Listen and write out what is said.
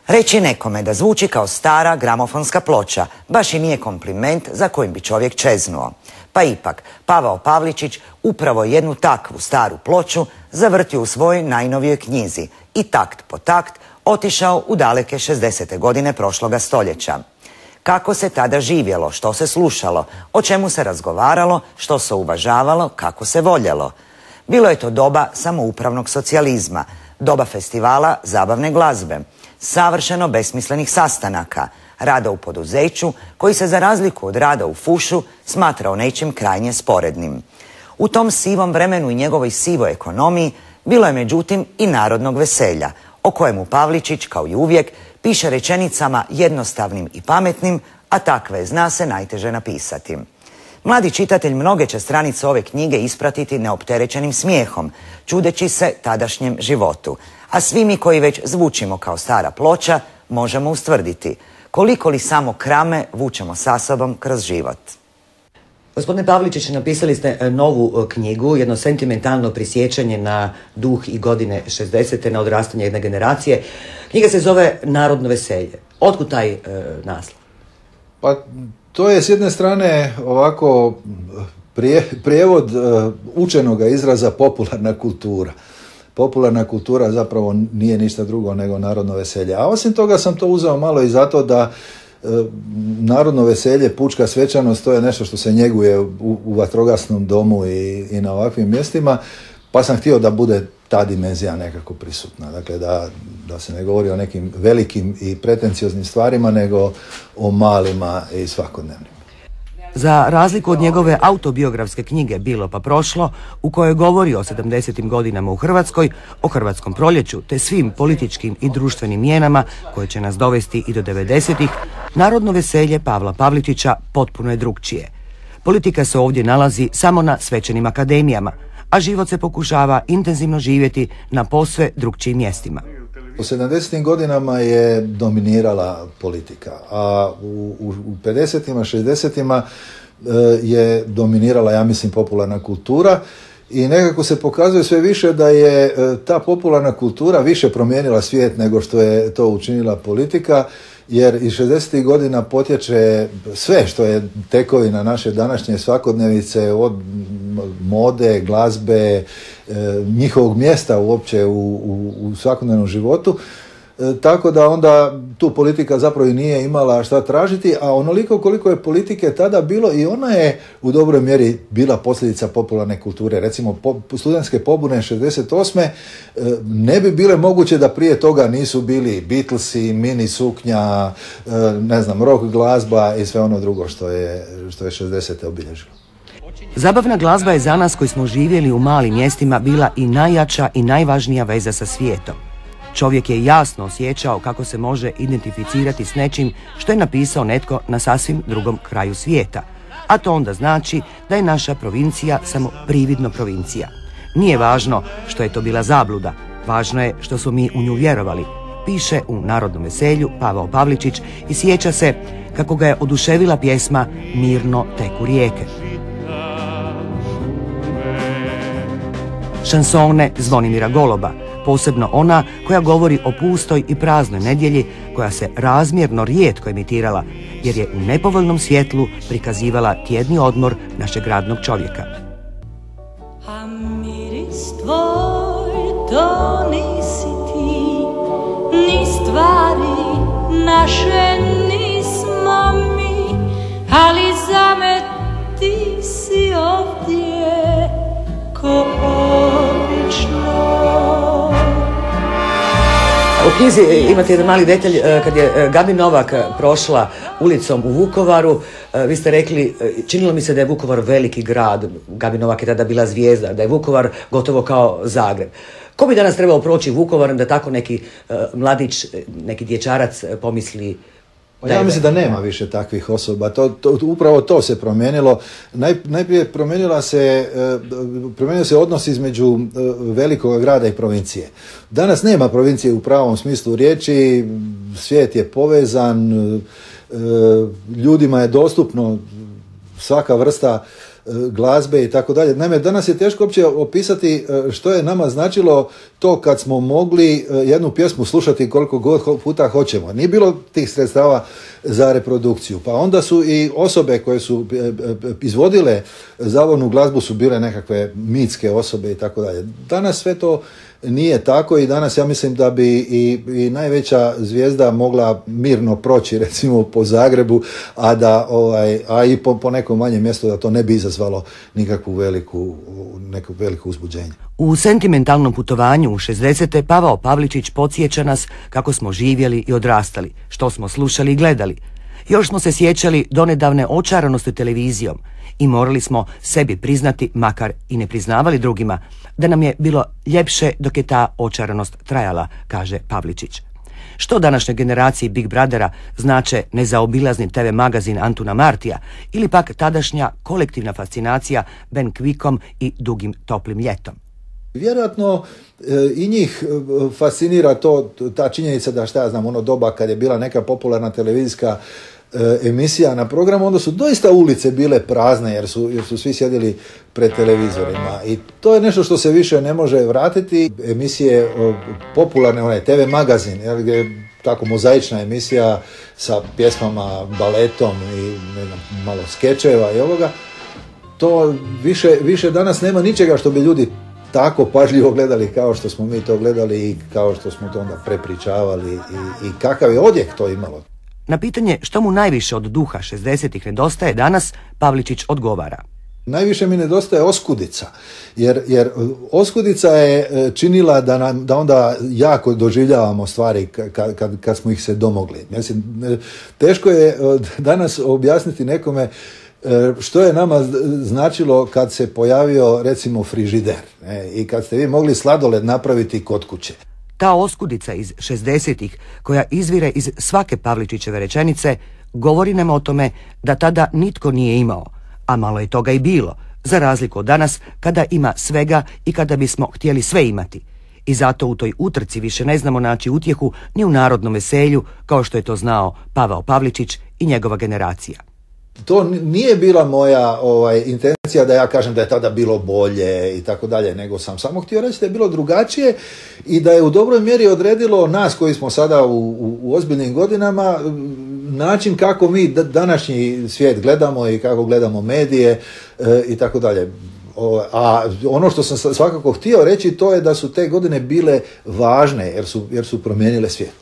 Reći nekome da zvuči kao stara gramofonska ploča baš i nije kompliment za kojim bi čovjek čeznuo. Pa ipak, Pavao Pavličić upravo jednu takvu staru ploču zavrtio u svojoj najnovijoj knjizi i takt po takt otišao u daleke 60. godine prošloga stoljeća. Kako se tada živjelo, što se slušalo, o čemu se razgovaralo, što se uvažavalo, kako se voljelo. Bilo je to doba samoupravnog socijalizma, doba festivala zabavne glazbe, savršeno besmislenih sastanaka, rada u poduzeću koji se za razliku od rada u fušu smatrao nečim krajnje sporednim. U tom sivom vremenu i njegovoj sivoj ekonomiji bilo je međutim i narodnog veselja, o kojemu Pavličić, kao i uvijek, piše rečenicama jednostavnim i pametnim, a takve zna se najteže napisati. Mladi čitatelj mnoge će stranice ove knjige ispratiti neopterećenim smijehom, čudeći se tadašnjem životu. A svi mi koji već zvučimo kao stara ploča možemo ustvrditi koliko li samo krame vučemo sa sobom kroz život. Gospodine Pavličić, napisali ste novu knjigu, jedno sentimentalno prisjećanje na duh i godine 60. na odrastanje jedne generacije. Knjiga se zove Narodno veselje. Otkud taj naslov? Pa to je s jedne strane ovako prijevod učenoga izraza popularna kultura. Popularna kultura zapravo nije ništa drugo nego narodno veselje. A osim toga sam to uzeo malo i zato da narodno veselje, pučka svečanost, to je nešto što se njeguje u vatrogasnom domu i na ovakvim mjestima, pa sam htio da bude ta dimenzija nekako prisutna. Dakle, da se ne govori o nekim velikim i pretencioznim stvarima, nego o malima i svakodnevnim. Za razliku od njegove autobiografske knjige Bilo pa prošlo, u kojoj govori o 70. godinama u Hrvatskoj, o hrvatskom proljeću te svim političkim i društvenim mijenama koje će nas dovesti i do 90-ih, Narodno veselje Pavla Pavličića potpuno je drukčije. Politika se ovdje nalazi samo na svečanim akademijama, a život se pokušava intenzivno živjeti na posve drukčijim mjestima. U 70. godinama je dominirala politika, a u 50-ima, 60-ima je dominirala, ja mislim, popularna kultura i nekako se pokazuje sve više da je ta popularna kultura više promijenila svijet nego što je to učinila politika, jer iz 60. godina potječe sve što je tekovina naše današnje svakodnevice, od mode, glazbe, njihovog mjesta uopće u svakodnevnom životu. Tako da onda tu politika zapravo i nije imala šta tražiti, a onoliko koliko je politike tada bilo, i ona je u dobroj mjeri bila posljedica popularne kulture. Recimo studentske pobune 68. Ne bi bile moguće da prije toga nisu bili Beatlesi, mini suknja, ne znam, rock glazba i sve ono drugo što je 60. obilježilo. Zabavna glazba je za nas koji smo živjeli u malim mjestima bila i najjača i najvažnija veza sa svijetom. Čovjek je jasno osjećao kako se može identificirati s nečim što je napisao netko na sasvim drugom kraju svijeta. A to onda znači da je naša provincija samo prividno provincija. Nije važno što je to bila zabluda, važno je što smo mi u nju vjerovali, piše u Narodnom veselju Pavao Pavličić i sjeća se kako ga je oduševila pjesma Mirno teku rijeke. Šansone Zvonimira Goloba, posebno ona koja govori o pustoj i praznoj nedjelji koja se razmjerno rijetko emitirala jer je u nepovoljnom svjetlu prikazivala tjedni odmor našeg radnog čovjeka. A miris tvoj to nisi ti, ni stvari naše nismo mi, ali za me ti si ovdje ko obično. U knjizi imate jedan mali detalj, kad je Gabi Novak prošla ulicom u Vukovaru, vi ste rekli, činilo mi se da je Vukovar veliki grad, Gabi Novak je tada bila zvijezda, da je Vukovar gotovo kao Zagreb. Ko bi danas trebao proći Vukovarom da tako neki mladić, neki dječarac pomisli? Ja mislim da nema više takvih osoba. Upravo to se promijenilo. Najprije promijenio se odnos između velikog grada i provincije. Danas nema provincije u pravom smislu riječi, svijet je povezan, ljudima je dostupno svaka vrsta glazbe i tako dalje. Naime, danas je teško uopće opisati što je nama značilo to kad smo mogli jednu pjesmu slušati koliko god puta hoćemo. Nije bilo tih sredstava za reprodukciju. Pa onda su i osobe koje su izvodile zavodnu glazbu su bile nekakve mitske osobe i tako dalje. Danas sve to nije tako i danas ja mislim da bi i najveća zvijezda mogla mirno proći recimo po Zagrebu, a i po nekom manjem mjestu da to ne bi izazvalo neko veliko uzbuđenje. U sentimentalnom putovanju u 60. Pavao Pavličić podsjeća nas kako smo živjeli i odrastali, što smo slušali i gledali. Još smo se sjećali donedavne očaranosti televizijom i morali smo sebi priznati, makar i ne priznavali drugima, da nam je bilo ljepše dok je ta očaranost trajala, kaže Pavličić. Što današnjoj generaciji Big Brothera znače nezaobilazni TV magazin Antuna Martija ili pak tadašnja kolektivna fascinacija Ben Quikom i Dugim toplim ljetom? Vjerojatno i njih fascinira ta činjenica da, šta ja znam, ono doba kad je bila neka popularna televizijska emisija na programu, onda su doista ulice bile prazne jer su svi sjedili pred televizorima i to je nešto što se više ne može vratiti. Emisije popularne, onaj TV magazin, gdje je tako mozaična emisija sa pjesmama, baletom i ne znam, malo skečeva i ovoga, to više danas nema ničega što bi ljudi tako pažljivo gledali kao što smo mi to gledali i kao što smo to onda prepričavali i kakav je odjek to imalo. Na pitanje što mu najviše od duha 60-ih nedostaje danas, Pavličić odgovara. Najviše mi nedostaje oskudica, jer oskudica je činila da onda jako doživljavamo stvari kad smo ih se domogli. Mislim, teško je danas objasniti nekome što je nama značilo kad se pojavio recimo frižider i kad ste vi mogli sladoled napraviti kod kuće. Ta oskudica iz 60-ih, koja izvire iz svake Pavličićeve rečenice, govori nam o tome da tada nitko nije imao, a malo je toga i bilo, za razliku od danas kada ima svega i kada bismo htjeli sve imati. I zato u toj utrci više ne znamo naći utjehu ni u narodnom veselju, kao što je to znao Pavao Pavličić i njegova generacija. To nije bila moja intencija da ja kažem da je tada bilo bolje i tako dalje, nego sam samo htio reći da je bilo drugačije i da je u dobroj mjeri odredilo nas koji smo sada u ozbiljnim godinama način kako mi današnji svijet gledamo i kako gledamo medije i tako dalje. A ono što sam svakako htio reći to je da su te godine bile važne jer su promijenile svijet.